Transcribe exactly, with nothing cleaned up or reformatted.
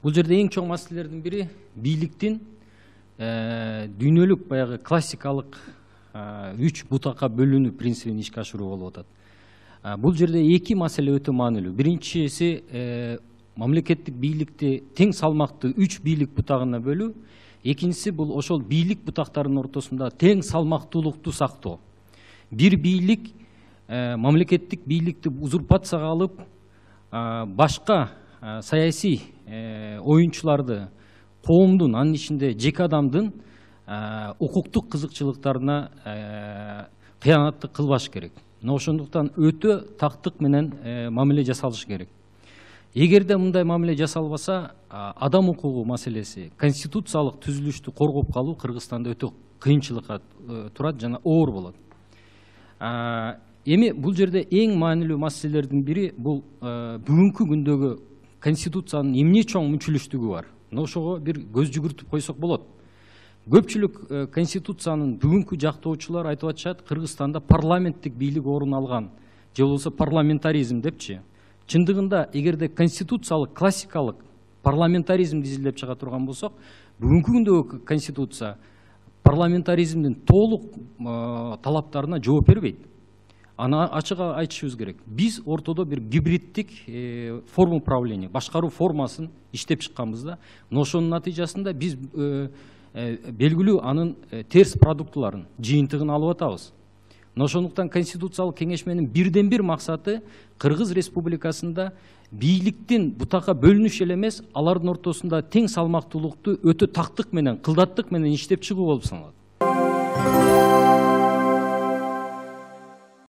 Бул жерде эң чоң маселелердин бири бийликтин дүйнөлүк баягы классикалык үч бутакка бөлүнүү принцибин ишке ашыруу болуп атат. Бул жерде эки маселе өтө маанилүү. Биринчиси мамлекеттик бийликти тең салмактуу үч бийлик бутагына бөлүү. Экинчиси бул ошол бийлик бутактарынын ортосунда тең салмактуулукту сактоо. Бир бийлик мамлекеттик бийликти узурпацияга алып, башка саясий оюнчуларды, коомдун, анын ичинде жеке адамдын укуктук кызыкчылыктарына кыянаттык кылбаш керек. Ошондуктан өтө тактык менен мамиле жасалыш керек. Эгерде мындай мамиле жасалбаса, адам укугу маселеси, конституциялык түзүлүштү коргоп калуу Кыргызстанда өтө кыйынчылыкка турат жана оор болот. Эми бул жерде эң маанилүү маселелердин бири бул бүгүнкү күндөгү конституциянын эмне чоң мүнчүлүштүгү бар. Ошого бир көз жүгүртүп койсок болот. Көпчүлүк конституциянын бүгүнкү жактоочулар айтып атышат, Кыргызстанда парламенттик бийлик орун алган, же болбосо парламентаризм депчи. Чындыгында эгерде конституциялык классикалык парламентаризмди изилдеп чыга турган болсок, бүгүнкү күндөгү конституция парламентаризмдин толук талаптарына жооп бербейт. Аны ачык айтышыбыз керек. Биз ортодо бир гибриддик форма управления, башкаруу формасын иштеп чыкканбыз да. Ошонун натыйжасында биз белгилүү анын терс продуктуларын, жыйынтыгын алып атабыз. Ошондуктан Конституциялык кеңешменин бирден бир максаты Кыргыз Республикасында бийликтин бутакка бөлүнүш эле эмес, алардын ортосунда тең салмактуулукту өтө тактык менен, кылдаттык менен иштеп чыгуу болуп саналат.